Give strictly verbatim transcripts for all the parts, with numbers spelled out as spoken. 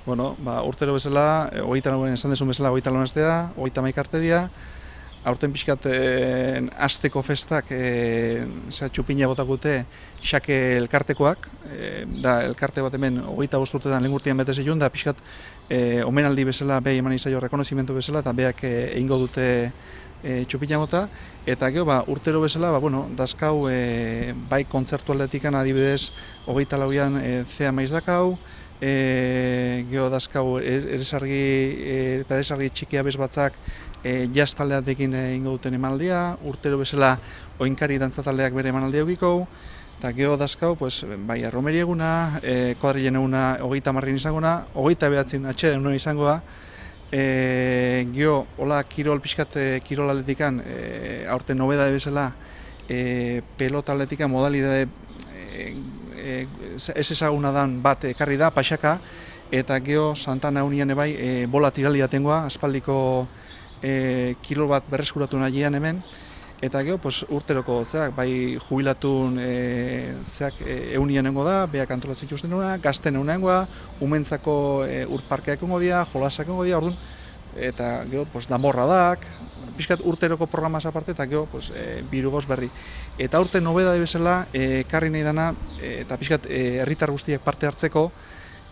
Bueno, ba, urtero bezala, e, hogeita lauan esan dezun bezala, hogeita lauan astea, hogeita hamaika arte dira. Aurten pixkat e, asteko festak e, zera, txupina botakute xake elkartekoak, e, da elkarte bat hemen hogeita bost urtetan lehen urtean bete zeion, da pixkat e, omenaldi bezala, behi eman izaio rekonozimentu bezala, eta beak e, egingo dute e, txupina bota, eta gero ba, urtero bezala, ba, bueno, dazkau e, bai kontzertu aldetikan adibidez hogeita lauan e, zea maiz dakau, E, geho dazkau eresargi eta eresargi txikia bez batzak e, jazz taldeatekin egingo duten emanaldia, urtero bezala oinkari dantza taldeak bere emanaldia eukiko, eta geho dazkau, pues, bai arromeri eguna, e, kuadrilen eguna hogeita marrin izangona, hogeita behatzin atxeden nuen izangoa, e, geho, hola kirol pixkat e, kirol atletikan, e, aurten nobedade bezala, e, pelota atletikan modalidade e, ez ezaguna dan bat ekarri da, paxaka, eta geho Santana unian ebai e, bola tiralia tengoa, aspaldiko e, kilo bat berreskuratu nahian hemen, eta geho pues, urteroko zeak, bai jubilatun e, zeak e, eunian nengo da, beak antolatzen ikusten duna, gazten eunengoa, umentzako e, urparkeak engo dia, jolasak engo dia, orduan, eta geho pues, damorradak, pixkat urteroko programaz aparte, eta geho pues, e, birugoz berri. Eta urte nobedade bezala, e, karri nahi dana, e, eta pixkat herritar guztiak parte hartzeko,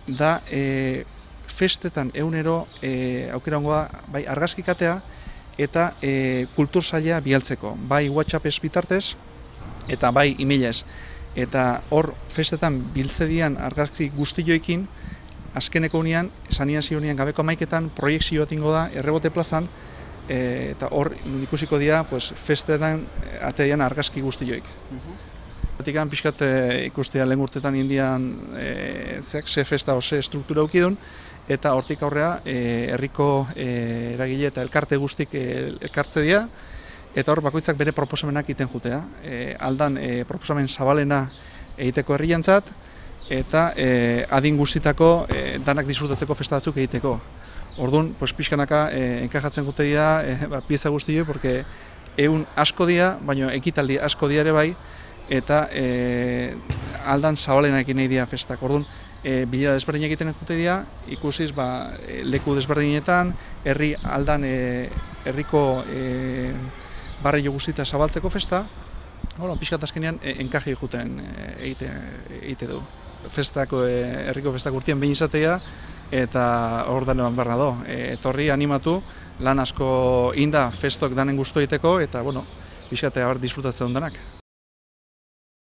da e, festetan egunero e, aukera ongoa bai argazkikatea eta e, kultur saila bialtzeko. Bai WhatsApp ez bitartez, eta bai emailez. Eta hor festetan biltzedian argazki guztioekin, azkeneko unian, sanian zionian gabeko amaiketan, proiektzio bat ingo da, errebote plazan, e, eta hor ikusiko dira pues, festetan ateian argazki guztioik. Batikan pixkat e, ikustea lehen urtetan indian e, zeak, ze festa ose struktura ukidun, eta hortik aurrea e, herriko e, eragile eta elkarte guztik e, elkartze dira, eta hor bakoitzak bere proposamenak egiten jutea. E, aldan e, proposamen zabalena egiteko herriantzat, eta e, adin guztitako e, danak disfrutatzeko festa batzuk egiteko. Orduan, pues, pixkanaka e, enkajatzen gute dira e, ba, pieza guztioi, porque egun asko dira, baina ekitaldi asko dira ere bai, eta e, aldan zabalenak nahi dira festak. Orduan, e, bilera desberdinak egiten jute dira, ikusiz ba, leku desberdinetan, herri aldan e, herriko e, barrio guztita zabaltzeko festa, Bueno, pixkat azkenean enkaje juten egite, egite du. Festako, herriko festak urtean behin izatea eta hor danean behar nado. Etorri animatu, lan asko inda festok danen guztu egiteko eta bueno, pixkat disfrutatzen danak.